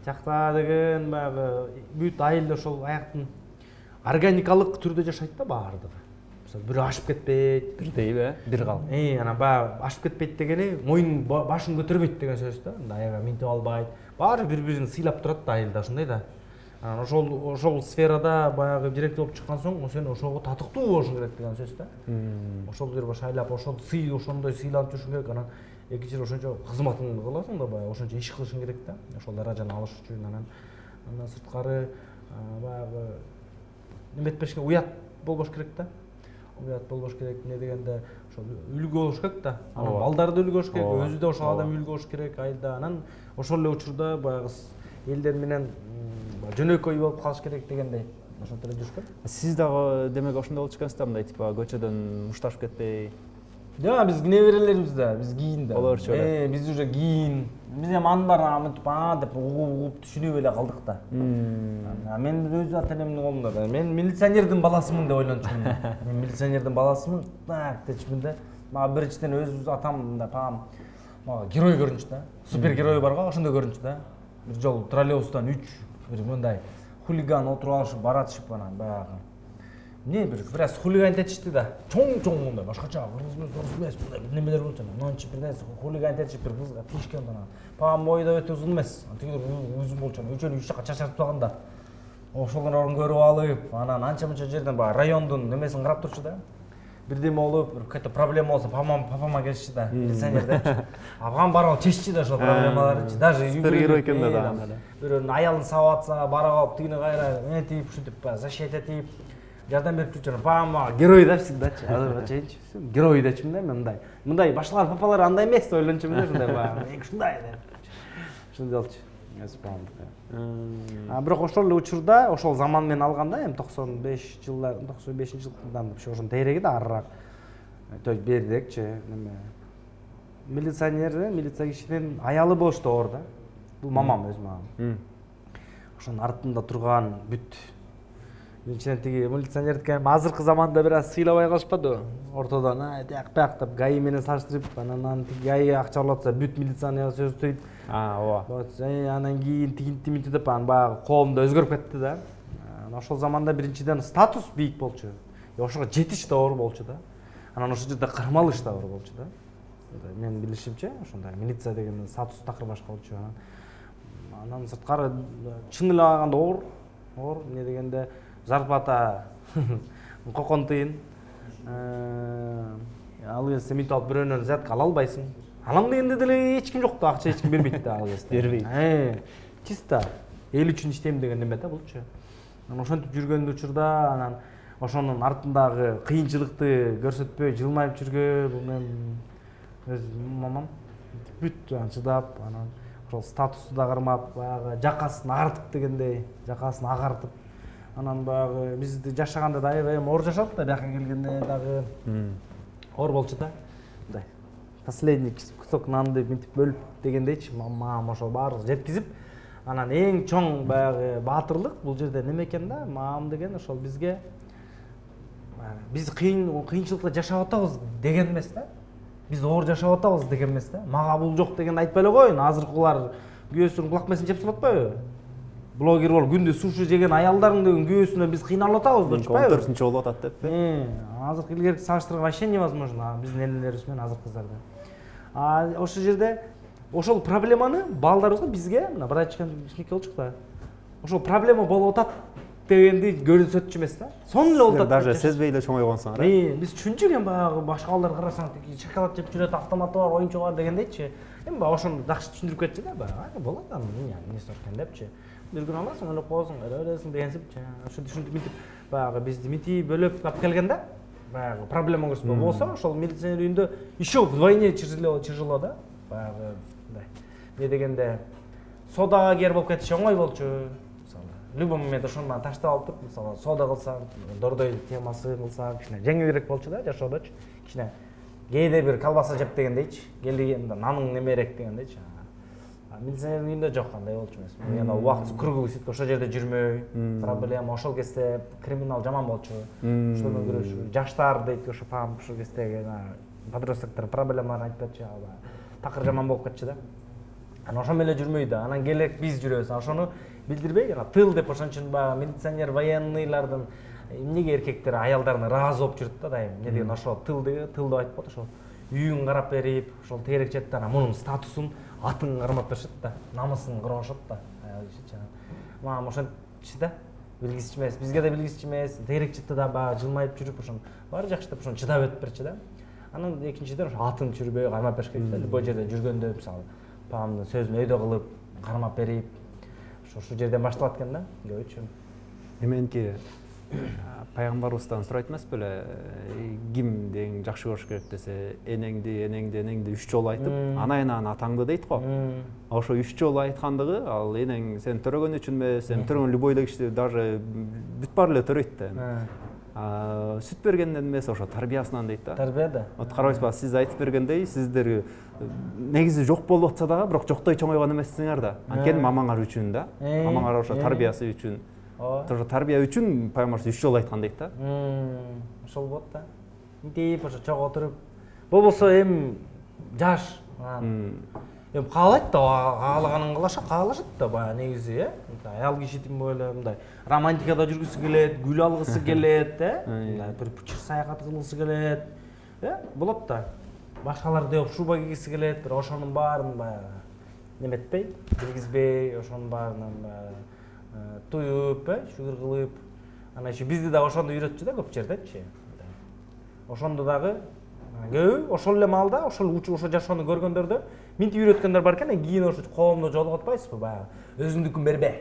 Тиякта деген баягы бүт айыл ошол аяктын органикалык түрдө жашайт да баардыгы. Бирөө ашып кетпейт, бирдейби, бир кал. Анан баягы ашып кетпейт дегени моюн башын көтөрбөйт деген сөз да. Аябай минтип албайт. Баары бири-бирин сыйлап турат да айылда, ошондой да. Анан ошол сферада баягы директор болуп чыккан соң, сен ошого татыктуу болушуң керек деген сөз да. Ошол жерге шайлап, ошол ошондой сыйланып жүрүшүң керек. Анан эки жер ошончо кызматыңды кыласың да, баягы ошончо иш кылышың керек да. Ошол даражаны алыш үчүн анан сырткары баягы неметпешке уят болбош керек да. Уят болбош керек, эмне дегенде ошол үлгү болуш керек да. Анан балдарды үлгү болуш керек, өзү да ошол адам үлгү болуш керек айылда. Анан ошол эле учурда баягы элдер менен жөнөкөй болуп калыш керек дегендей. Ошентип эле жүрүш керек. Сиз дагы демек ошондой болчу экенсиз да, мындай типа көчөдөн мушташып кетпей. Жок, биз неберелерибиз да, биз кийин да. Олорчу эле. Биз уже кийин. Биз эми анын баарын мынтип деп угуп түшүнүп эле калдык да. Мен өз ата-энемдин колунда да. Мен милиционердин баласымын деп ойлончумун. Мен милиционердин баласымын, так дечмин да. Мага биринчиден өз атам мындай пам мага герой көрүнчү да. Супергерой бар го, ошондой көрүнчү да. Бир жолу троллейбустан 3 бир мындай хулиган отуруп алышып баратышып анан баягы. Не бир раз хулиган этишти да. Чоң мындай башкача кыргыз эмес, мындай немелер болчу анан. Мынча бир нерсе хулиган этишип бир кызга тишкен анан. Пам бойдо өтө узун эмес. Тигилер узун болчу. Үчөө үч жака чачырып турганда. Ошолорун көрүп алып, анан анча-мынча жерден баягы райондун немесин карап турчу да. Бирдеме болуп, бир какой-то проблема болсо, папама келишчи да, милиционер депчи. Апам барып чеччи да ошол проблемаларды. Даже супергерой экен да. Бирөөнүн аялын сабап атса, барып алып тигине кайра этип, ушинтип защита этип, жардам берип жүрчү. Папама герой да всегдачы. Азыр чейинчи. Герой дечмин да мен мындай башкалар папалар андай эмес деп ойлончумун да, ушундай баягы. Ушундай деп. Ушундай болчу. Бирок ошол эле учурда, ошол заман менен алганда, эми 95-жылдардан ошонун тегереги да арыраак. То есть бердекчи, неме. Милиция кишинин аялы болуш да оор да. Бул мамам, өз мамам. Ошонун артында турган бүт биринчиден тиги милиционердики азыркы заманда бир аз сыйлабай калышпадыбы? Ортодон тияк бияк деп ГАИ менен салыштырып, анан тиги ГАИ акча алып атса бүт милицияны сөз түйт. ооба. Анан кийин тигинти деп анан баягы коом да өзгөрүп кетти да. Ошол заманда биринчиден статус бийик болчу. Ошого жетиш да оор болчу да. Анан ошол жерде кырмалыш да оор болчу да. Мен билишимче ошондой милиция деген статус такыр башка болчу. Анан сырткары чын эле алганда оор эмне дегенде зарплата кокон тыйын. Ал кезде мынтип алып бирөөнөн взятка ала албайсың. Алам дегенде деле эч ким жок да, акча эч ким бербейт да ал кезде. Бербейт. Чисто эл үчүн иштейм деген неме да булчу. Анан ошентип жүргөн учурда анан ошонун артындагы кыйынчылыкты көрсөтпөй жылмайып жүргөн бул мен өз мамам бүт чыдап анан ошол статусту да кармап баягы жакасын агартып дегендей жакасын агартып анан баягы бизди жашаганда да аябай оор жашадык да бияка келгенде дагы оор болчу да мындай последний кусок нанды мынтип бөлүп дегендейчи мамам ошол баардыгын жеткизип анан эң чоң баягы баатырлык бул жерде неме экен да мамам деген ошол бизге биз кыйынчылыкта жашап атабыз деген эмес да биз оор жашап атабыз деген эмес да мага бул жок дегенди айтпай эле коеюн азыркылар күйөөсүнүн булакмесин жеп атпайбы блогер болуп күндө суши жеген аялдардын күйөөсүнө биз кыйналып атабыз да чыкпайбы 14-чү болуп атат деп азыркы илгерки салыштырганда вообще невозможно биздин энелерибиз менен азыркы кыздарды ошол жерде ошол проблеманы балдарыбызга бизге мына братчикам кичинекей болчук да ошол проблема болуп атат дегенди көрсөтчү эмес да сонун эле болуп атат даже сезбей эле чоңойгонсуңар биз түшүнчүк эми баягы башка балдар карасаң тиги шоколад жеп жүрөт автоматы бар оюнчугу бар дегендейчи эми баягы ошону жакшы түшүндүрүп кетчү да баягы болот анын эмнеси бар экен депчи бир күн аласың ойлоп коесуң өлөсүң дегенсип ошо түшүнтүп мынтип баягы бизди мынтип бөлөп алып келген да баягы проблема көрсөтпө болсо ошол милиционер үйүндө еще вдвойне тяжело да баягы мындай эмне дегенде содага кер болуп кетиш оңой болчу мисалы любой момент ошону таштап алып туруп мисалы сода кылсаң дордой темасы кылсаң кичине жеңилирээк болчу да жашоодочу кичине кээде бир колбаса жеп дегендейчи келгенде наның немерээк дегендейчи милиционердин үйүндө жок андай болчу эмес мен убактысы круглый ошол жерде жүрмөй проблема ошол кезде криминал жаман болчу ошол менен күрөшүү жаштар дейт ошо пам ошол кездеги подростоктордун проблемаларын айтып берчү такыр жаман болуп кетчү да анан ошо менен эле жүрмөй да анан келек биз жүрөбүз ошону билдирбей тыл деп ошон үчүн баягы милиционер военныйлардын эмнеге эркектер аялдарына ыраазы болуп жүрөт да дайым эмне деген ошол тыл деп айтып коет ошол үйүн карап берип ошол тегерек жетти анан мунун статусун атын кармап беришет да намысын коргошот да мамам ошентчи да билгисиз эмес бизге да билгисиз эмес тегерек жетти да баягы жылмайып жүрүп ошону баары жакшы деп ошону чыдап өтүп берчү да анан экинчиден ошо атын түшүрбөй кармап бериш керек да любой жерде жүргөндө мисалы папамдын сөзүн өйдө кылып кармап берип ошол жерден башталат экен да көбүнчө эменки пайгамбарыбыздан сурайт эмес беле ким дең жакшы көрүш керек десе энеңди 3 жолу айтып анайынан атаңды дейт го ошо 3 жолу айткандыгы ал энең сен төрөгөн үчүн эмес сен төрөгөн любой эле киши даже бүт баары эле төрөйт да сүт бергенден эмес ошо тарбиясынан дейт да тарбия да карабайсызбы сиз айтып бергендей сиздер негизи жок болуп атса дагы бирок жоктой чоңойгон эмессиңер да анткени мамаңар үчүн да мамаңар ошо тарбиясы үчүн ошо тарбия үчүн пайгамбарыбыз 3 жолу айткан дейт да ошол болот да мынтип ошо чогуу отуруп болбосо эми жаш эми каалайт да каалаганын каалашат да баягы негизи аял киши тем более мындай романтикада жүргүсү келет гүл алгысы келет мындай бир пучир саякат кылгысы келет болот да башкалардей шуба кийгиси келет бирок ошонун баарын баягы неметпей киргизбей ошонун баарынан баягы туюп шүгүр кылып анан еще бизди дагы ошондо үйрөтчү да көп жердечи ошондо дагы көбү ошол эле маалда ошол жашоону көргөндөрдө мынтип үйрөткөндөр бар экен кийин ошо коомдо жолугуп атпайсызбы баягы өзүңдүкүн бербе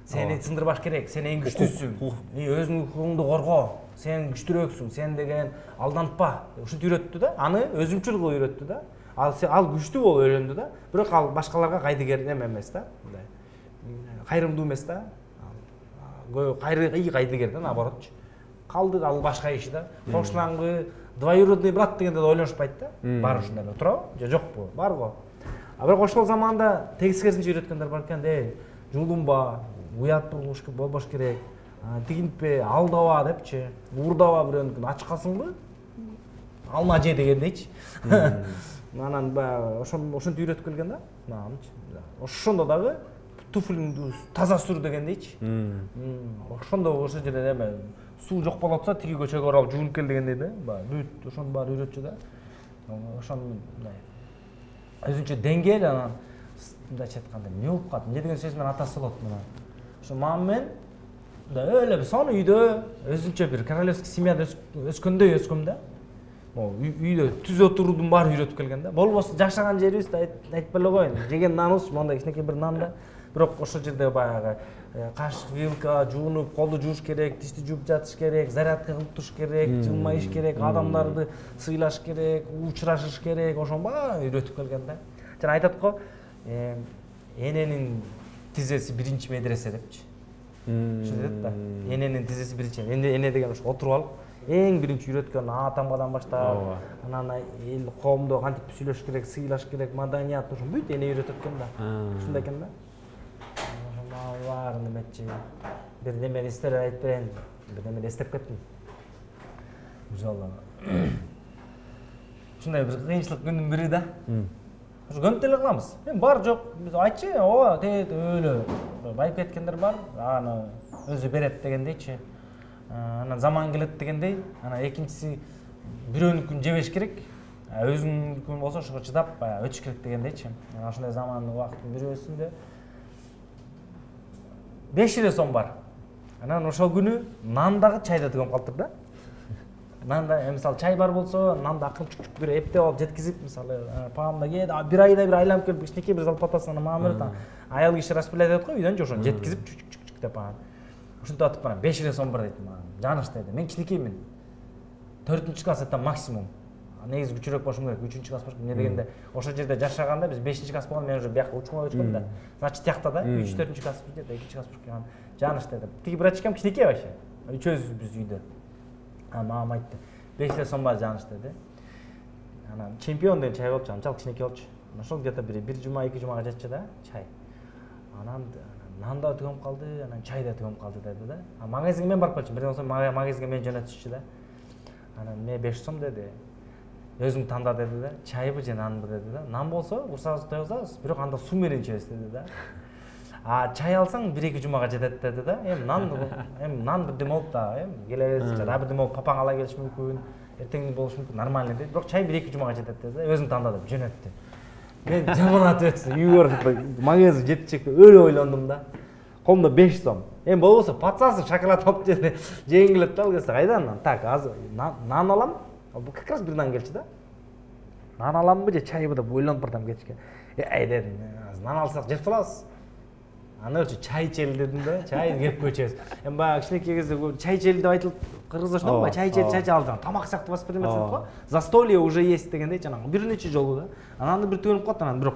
сени сындырбаш керек сен эң күчтүүсүң өзүңдүн укугуңду корго сен күчтүүрөөксүң сен деген алдантпа ушинтип үйрөттү да аны өзүмчүл кылып үйрөттү да ал күчтүү болуп өйлөндү да бирок ал башкаларга кайдыгер эме эмес да мындай кайрымдуу эмес да кайдыгер да наоборотчу калды ал башка иши да кошунаңгы двоюродный брат дегенде да ойлонушпайт да баары ушундай эле туурабы же жокпу бар го бирок ошол заманда тескерисинче үйрөткөндөр бар экен жулунба уят болбош керек тигинтпе алдаба депчи, уурдаба бирөөнүкүн ач калсыңбы? Алма же дегендейчи. Анан баягы ошентип үйрөтүп келген да. Ошондо дагы туфлиңди таза сүр дегендейчи. Ошондо ошол жерде эме суу жок болуп атса тиги көчөгө барып жуунуп кел дегендей да. Бүт ошонун баары үйрөтчү да. Ошону өзүнчө деңгээл анан мындайча айтканда эмне болуп калат? Эмне деген сөз менен атасы болот мына. Ошо мамам мен эле бир сонун үйдө өзүнчө бир королевский семьяда өскөндөй өскөм да. Үйдө түз отуруудун баары үйрөтүп келген да. Болбосо жашаган жерибизди айтпай эле коеюн. Жеген наныбыз мондай кичинекей бир нан да. Бирок ошол жерде баягы кашык, вилка жуунуп, колду жууш керек, тишти жууп жатыш керек, зарядка кылып туруш керек, жылмайыш керек, адамдарды сыйлаш керек, учурашыш керек, ошонун баарын үйрөтүп келген да. Жана айтат го, эненин тизеси биринчи медресе депчи. Ошо дейт да. Эненин тизеси биринчи. Эне деген ошо отуруп алып, эң биринчи үйрөткөн атамгадан баштап, анан эл коомдо кантип сүйлөш керек, сыйлаш керек, маданият ошо бүт эне үйрөтөт экен да. Ушундай экен да. Баарын эметчи. Бир немени эстелеп айтпайын. Бир немени эстеп кеттим. Жолу. Ушундай бир кыйынчылык күндүн бири да. Ошо көнүп эле калабыз. Мен бар жок, биз айтчы, ооба, тет өлө. Байып кеткендер бар, аны өзү берет дегендейчи. Анан заман келет дегендей, анан экинчиси бирөөнүкүн жебеш керек. Өзүңүнүкүн болсо ошого чыдап өтүш керек дегендейчи. Анан ошондой замандын убакыттын бирөөсүндө 5 эле сом бар. Анан ошол күнү нан дагы чай да төгөп калыптыр да. Нан да, мисалы чай бар болсо, нанды акырын бир эптеп алып жеткизип, мисалы, паамда кет, бир айда бир айланып келип, кичинекей бир залпатасын мама берет, аял киши распылять этет го үйдөн же ошону жеткизип чүк деп анан. Ушинтип атып барам, 5 эле сом бар дейт мага. Жаныш деди. Мен кичинекеймин. 4-чү класста максимум. Негизи күчүрөөк болушум керек, 3-чү класс болушум. Эмне дегенде, ошол жерде жашаганда биз 5-чи класс болгондо мен уже бияка учканга өчкөм да. Значит, тиякта да 3-4-чү класс же 2-чи класс болуп калган. Жаныш деди. Тиги братчикам кичинекей вообще. Үчөөбүз биз үйдө. Мамам айтты. 5 эле сом бар Жаныш деди. Анан чемпион деген чай болчу, анчалык кичинекей болчу. Ошол где-то бир жума, 2 жумага жетчү да чай. Анан нан да төгөп калды, анан чай да төгөп калды деди да. Магазинге мен барып калчумун. Бирден соң магазинге мен жөнөтүшчү да. Анан мен 5 сом деди. Өзүң танда деди да. Чайбы же нанбы деди да. Нан болсо урсабыз тойгузабыз, бирок анда суу менен ичебиз деди да. Чай алсаң 1-2 жумага жетет деди да. Эми нан бирдеме болуп да, келебиз, жада бирдеме болуп папаң ала келиши мүмкүн, эртең болушу мүмкүн, нормально деди. Бирок чай 1-2 жумага жетет деди да. Өзүң танда деп жөнөттү. Мен жаманат өтсө, үйгө барып магазин жетичекте өлө ойлондум да. Колумда 5 сом. Эми болбосо пацасы шоколад алып жегим келет да, ал кезде кайдан? Так, азыр нан алам. Как раз бир нан келчү да. Нан аламбы же чайбы деп ойлонуп бардым кечке. Дедим, нан алсак жеп калабыз. Аны чай ичели дедим да. Чай кеп көчөбүз. Эми баягы кичинекей кезде чай ичели деп айтылып кыргызда ошондойбу? Чай ичели алып, тамак сыяктуу воспринимать этип го. Застолье уже есть дегендей, жанагы бир нече жолу да. Анан бир төгүнүп калат, анан бирок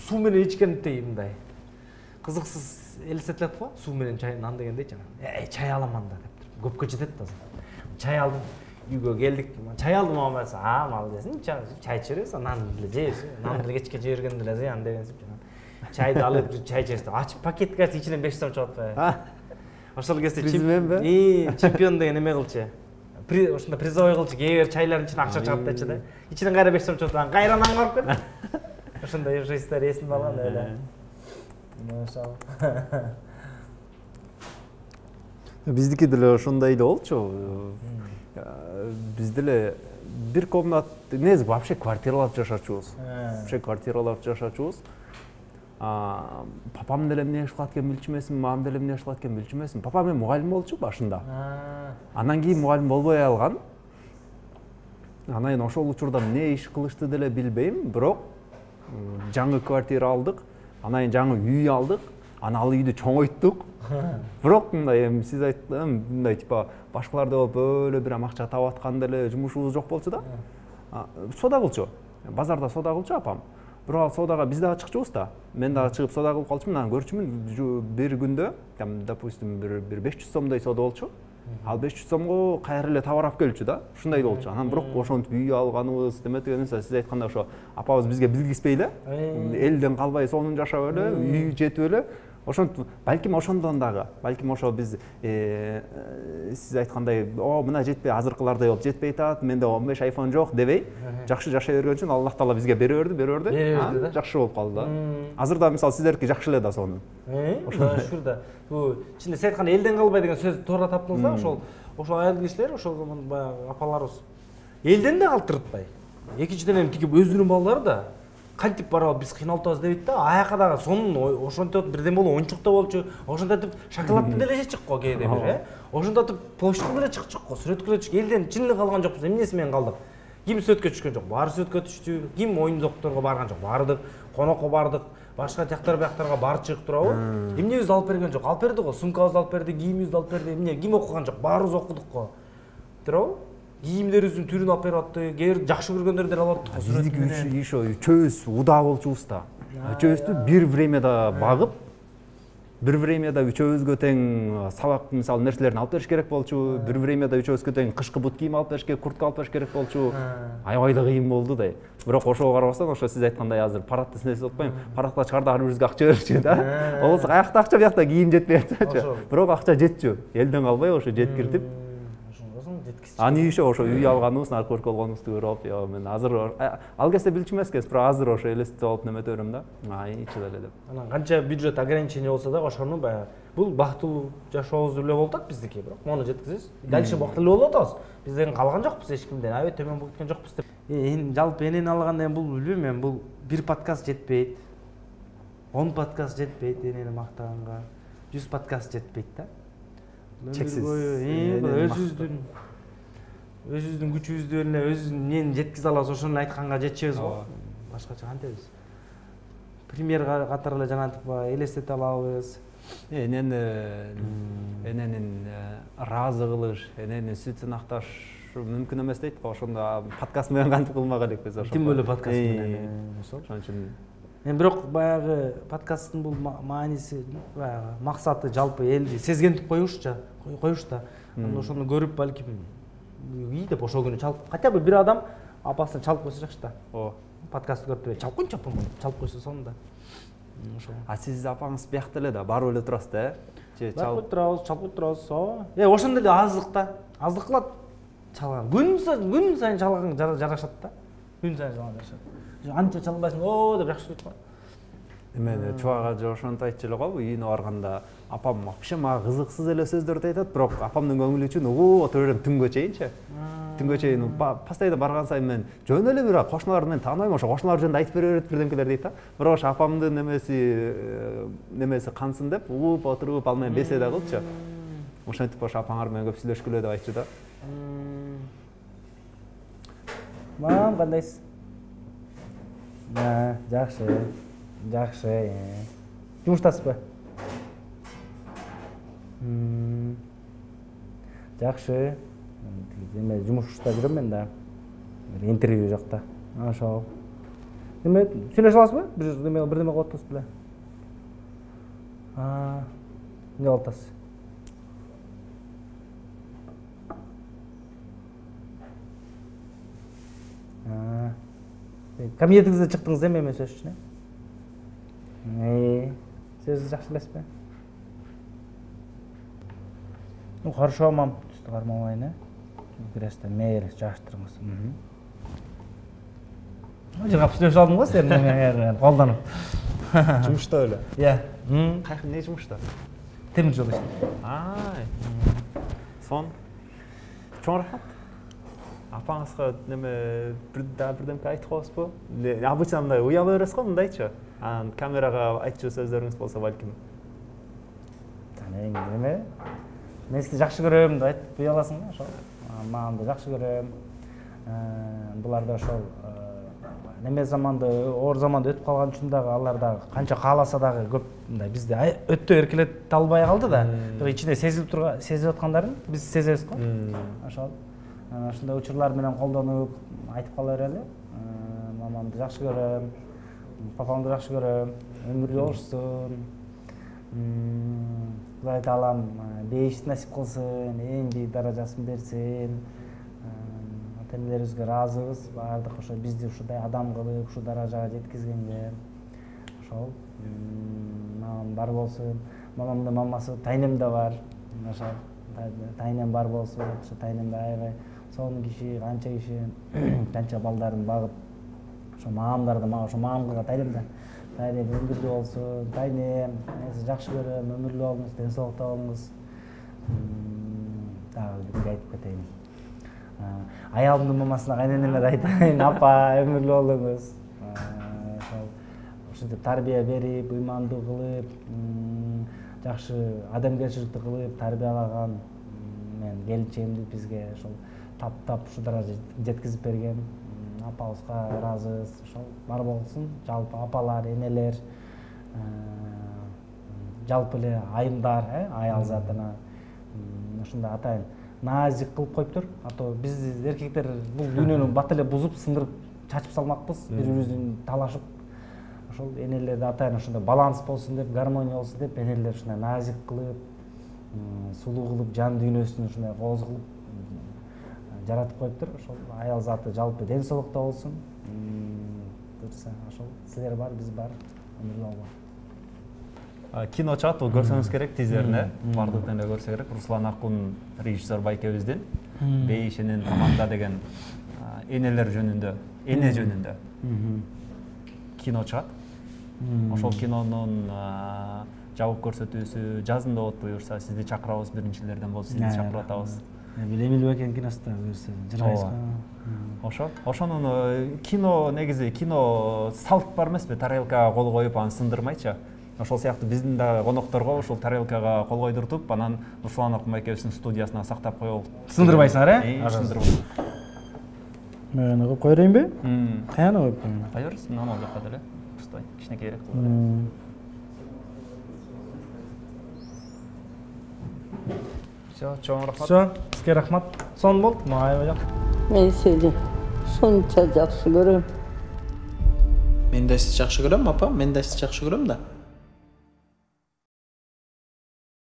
суу менен ичкендей мындай кызыксыз элестетилет го. Суу менен чай, нан дегендей жанагы. Чай алам анда деп. Көпкө жетет да. Чай алдым. Үйгө келдик. Чай алдым мама айтса, мал десин, чай ичебиз, нан деле жейбиз. Нан деле кечке жей берген деле зыян дегенсип жанагы. Чайды алып чай ичебиз. Ачып пакетке ачып ичинен 5 сом чыгып атпайбы? Ошол кезде чемпион деген эме кылчы. Ошондо призовой кылчы, кээ бир чайлардын ичинен акча чыгат дечи да. Ичинен кайра 5 сом чыгып атат, кайра нанга барып кет. Ошондой история эсимде калган эле. Ошол. Биздики деле ошондой эле болчу. Биз деле бир комнат, негизи вообще квартираларда жашачубуз. Вообще квартираларда жашачубуз. Папам деле эмне иши кылат экен билчү эмесмин, мамам деле эмне иши кылат экен билчү эмесмин. Папам эми мугалим болчу башында. Андан кийин мугалим болбой алган. Анан кийин ошол учурда эмне иш кылышты деле билбейм, бирок жаңы квартира алдык, анан кийин жаңы үй алдык, анан ал үйдү чоңойттук. Бирок мындай эми сиз айткан мындай типа башкаларда болуп өлө бир акча таап аткан деле жумушубуз жок болчу да. Сода кылчу. Базарда сода кылчу апам. Бирок ал содага биз дагы чыкчубуз да. Мен дагы чыгып сода кылып калчумун, анан көрчүмүн бир күндө, допустим, бир 500 сомдой сода болчу. Ал 500 сомго кайра эле товар алып келчү да. Ушундай болчу. Анан бирок ошентип үй алганыбыз, деметкен сиз айткандай ошо апабыз бизге билгизбей эле, элден калбай сонун жашап эле, үй жетип эле, Ошентип балким ошондон дагы, балким ошо биз сиз айткандай, мына жетпей, азыркылардай болуп жетпей атат, менде 15 iPhone жок дебей, жакшы жашай берген үчүн Аллах Таала бизге бере берди, жакшы болуп калды да. Азыр да мисалы сиздердики жакшы эле да сонун. Шүр да. Бул ичинде сиз айткан элден калбай деген сөздү туура таптыңыз да, ошол айыл кишилер, ошол баягы апаларыбыз элден да калтыртпай. Экинчиден эми тиги өзүнүн балдары да кантип барабы биз кыйналып атабыз дебейт да, аяка дагы сонун ошентип бирден болуп оюнчук да болчу, ошентип шоколадты деле жечик го кээде бир, ошентип площадька деле чыкчык го, сүрөткө деле чык. Элден чын эле калган жокпуз, эмнеси менен калдык? Ким сөткө түшкөн жок, баары сөткө түштү. Ким оюн-зокторго барган жок, бардык. Конокко бардык. Башка жактар бияктарга барчык турабы? Эмнебизди алып берген жок? Алып берди го, сумкабызды алып берди, кийимибизди алып берди. Эмне, ким окуган жок? Баарыбыз окудук го. Турабы? Кийимдерибиздин түрүн алып берип атты. Кээ бир жакшы көргөндөрдү деле алып аттык. Биздики ошо үчөөбүз удаа болчубуз да. Үчөөбүздү бир времяда багып, бир времяда үчөөбүзгө тең сабак мисалы нерселерин алып бериш керек болчу, бир времяда үчөөбүзгө тең кышкы бут кийим алып бериш керек, куртка алып бериш керек болчу. Аябай да кыйын болду да. Бирок ошого карабастан, ошо сиз айткандай азыр парадты эсип атпайм, парадка чыгарда ар бирибизге акча берчү да. Болсо каякта акча, биякта кийим жетпей атчу. Бирок акча жетчү. Элден калбай ошо жеткиртип. Аны ошо үй алганыбыз, наркотик болгонубузду көрүп, мен азыр ал кезде билчү эмес экенбиз, бирок азыр ошо элестетип алып немете берем да. Чыда эле деп. Анан канча бюджет ограничение болсо да, ошону баягы бул бактылуу жашообуз эле болуп атат биздики, бирок мону жеткизебиз. Дальше бактылуу болуп атабыз. Бизден калган жокпуз эч кимден, аябай төмөн болуп кеткен жокпуз деп. Жалпы энени алганда бул билбейм мен, бул бир подкаст жетпейт. 10 подкаст жетпейт энени мактаганга. 100 подкаст жетпейт да. Чексиз. Өзүбүздүн күчүбүздү эле өзүбүздүн эмнени жеткизе алабыз, ошону айтканга жетишебиз го. Башкача кантебиз? Пример катары эле жанагынтип элестете алабыз. Эненин ыраазы кылыш, эненин сүтүн акташ мүмкүн эмес дейт го. Ошондо подкаст менен кантип кылмак элекпиз ошо. Тим более подкаст менен. Ошол үчүн бирок баягы подкасттын бул мааниси, баягы максаты жалпы элди сезгентип коюш да. Ошону көрүп балким үй деп ошол күнү чалып, хотя бы бир адам апасына чалып койсо жакшы да. Подкастты көрүп чалып койчу апам, чалып койсо сонун да. Ошол. Сиз апаңыз биякта эле да, барып эле турасыз да, же чалып кой турабыз. Ошондо эле аздык да. Аздык кылат чалган. Күн сайын чалган жарашат да. Күн сайын чалган жарашат. Анча чалбайсың, деп жакшы көрүп коет. Мен чубага же ошонтип айтчу эле го, үйүнө барганда апам вообще мага кызыксыз эле сөздөрдү айтат, бирок апамдын көңүлү үчүн отура берем түнгө чейинчи. Түнгө чейин постоянно барган сайын мен жөн эле бир кошуналарды мен тааныбайм, ошо кошуналар жөнүндө айтып бере берет бирдемкелер дейт да. Бирок ошо апамдын немеси кансын деп отуруп ал менен беседа кылчу. Ошентип ошо апаңар менен көп сүйлөшкүлө деп айтчу да. Мам, кандайсыз? Жакшы. Жумуштасызбы? Жакшы. Эме жумушта жүрөм мен да. Бир интервью жакта. Ошол. Эме сүйлөшө аласызбы? Бирдеме кылып атасыз беле? Эмне кылып атасыз? Кабинетиңизде чыктыңыз эме сөз үчүн? Сөз жакшы элесизби? Хорошо, мам. Түстү кармабайын, Креста мейли жаштырыңыз. Жыгап сүйлөшүп алдым го сени колдонуп. Жумушта эле. Не жумушта? Темир жол иштейт. Сон. Чоң рахмат. Апаңызга неме бирдемке айтып коесузбу? Обычно мындай уяла бересиз го, мындайчы. Анан камерага айтчу сөздөрүңүз болсо балким. Эме? Мен сизди жакшы көрөм деп айтып уяласың да, ошол. Мамамды жакшы көрөм. Булар да ошол неме заманды, оор заманды өтүп калган үчүн дагы алар дагы канча кааласа дагы көп мындай бизди өтө эркелете албай калды да. Бирок ичинде сезип аткандарын биз сезебиз го. Ошол. Ошондой учурлар менен колдонуп айтып кала берели. Мамамды жакшы көрөм, папамды жакшы көрөм, өмүрү болушсун. Кудай таалам бейишти насип кылсын, эң бийик даражасын берсин. Ата-энелерибизге ыраазыбыз, баардык ошо бизди ушундай адам кылып, ушу даражага жеткизгенге. ошол мамам бар болсун, мамамдын мамасы тайнем да бар. Ошол тайнем бар болсун, ошо тайнемде аябай сонун киши, канча балдарын багып, ошо мамамдарды ошо мамамга тайнем өмүрлүү болсун, тайнем, мен сизди жакшы көрөм, өмүрлүү болуңуз, ден соолукта болуңуз. Дагы бирге айтып кетейин. Аялымдын мамасына, кайненеме да айтайын, апа, өмүрлүү болуңуз. Ушинтип тарбия берип, ыймандуу кылып, жакшы адамгерчиликти кылып тарбиялаган мен келинчегимди бизге ошол таптап ушу даражага жеткизип берген апабызга ыраазыбыз. Ошол бар болсун, жалпы апалар, энелер, жалпы эле айымдар, аял затына ушундай атайын назик кылып коюптур. А то биз эркектер бул дүйнөнү бат эле бузуп, сындырып, чачып салмакпыз, бири-бирибиздин талашып. Ошол энелерди атайын ушундай баланс болсун деп, гармония болсун деп, энелер ушундай назик кылып, сулуу кылып, жан дүйнөсүн ушундай кооз кылып жаратып коюптур. Ошол аял заты жалпы ден соолукта болсун. Буюрса, ошол силер бар, биз бар, өмүрлүү болгула. Кино чыгат, бул көрсөңүз керек, тизерин, бардыгын эле көрсө керек. Руслан Акун режиссер байкебиздин Бейишенин команда деген энелер жөнүндө, эне жөнүндө кино чыгат. Ошол кинонун жабык көрсөтүүсү жазында болот буюрса, сизди чакырабыз, биринчилерден болуп сизди чакырып атабыз. Эмил Бекен киносунда буюрса, жыргайсызбы? Ошонун кино негизи кино салт бар эмеспи, тарелкага кол коюп аны сындырмайчы. Ошол сыяктуу биздин да конокторго ушул тарелкага кол койдуртуп, анан Руслан Акун байкебиздин студиясына сактап коелук. Сындырбайсыңар, Сындырбайм. Мен коюп кое берейинби? Каяна коюп коеюн? Кое бересиң, анау жака деле. Пустой, кичинекейирээк. Всё, чоң рахмат. Всё, сизге рахмат. Сонун болду, мага аябай жакшы. Мен сени шунча жакшы көрөм. Мен да сизди жакшы көрөм, апа. Мен да сизди жакшы көрөм да.